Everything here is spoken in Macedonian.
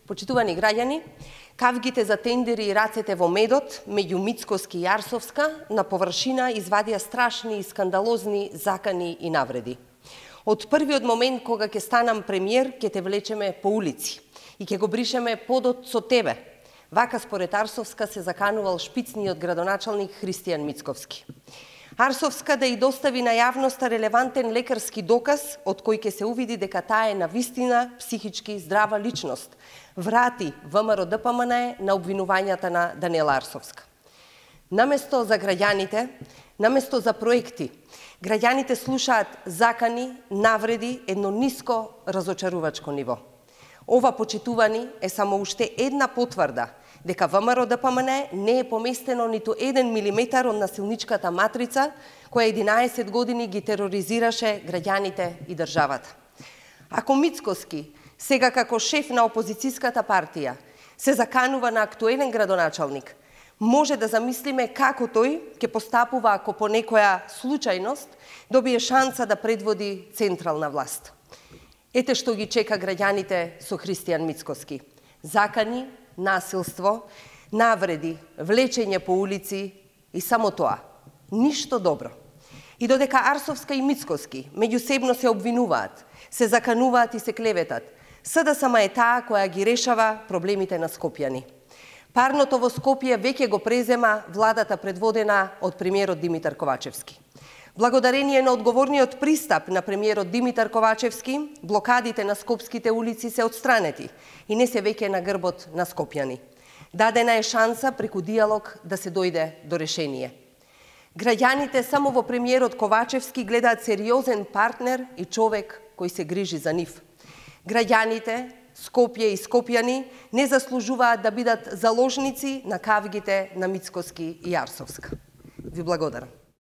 Почитувани граѓани, кавгите за тендери и рацете во медот меѓу Мицкоски и Арсовска на површина извадија страшни и скандалозни закани и навреди. Од првиот момент кога ќе станам премиер, ќе те влечеме по улици и ќе го бришеме подот со тебе. Вака според Арсовска се заканувал шпицниот градоначалник Христијан Мицковски. Арсовска да и достави на јавноста релевантен лекарски доказ од кој ќе се увиди дека таа е навистина психички здрава личност. Врати ВМРО ДПМН на обвинувањата на Даниела Арсовска. Наместо за граѓаните, наместо за проекти, граѓаните слушаат закани, навреди, едно ниско разочарувачко ниво. Ова, почитувани, е само уште една потврда дека ВМРО ДПМН не е поместено ниту 1 милиметар од насилничката матрица која 11 години ги тероризираше граѓаните и државата. Ако Мицкоски, сега како шеф на опозицијската партија, се заканува на актуелен градоначалник, може да замислиме како тој ќе постапува ако по некоја случајност добие шанса да предводи централна власт. Ете што ги чека граѓаните со Христијан Мицкоски. Закани, насилство, навреди, влечење по улици и само тоа. Ништо добро. И додека Арсовска и Мицкоски меѓусебно се обвинуваат, се закануваат и се клеветат, СДСМ е таа која ги решава проблемите на скопјани. Парното во Скопје веќе го презема владата предводена од премиерот Димитар Ковачевски. Благодарение на одговорниот пристап на премиерот Димитар Ковачевски, блокадите на скопските улици се отстранети и не се веќе на грбот на скопјани. Дадена е шанса преку диалог да се дојде до решение. Граѓаните само во премиерот Ковачевски гледаат сериозен партнер и човек кој се грижи за нив. Граѓаните, Скопје и скопјани не заслужуваат да бидат заложници на кавгите на Мицкоски и Арсовска. Ви благодарам.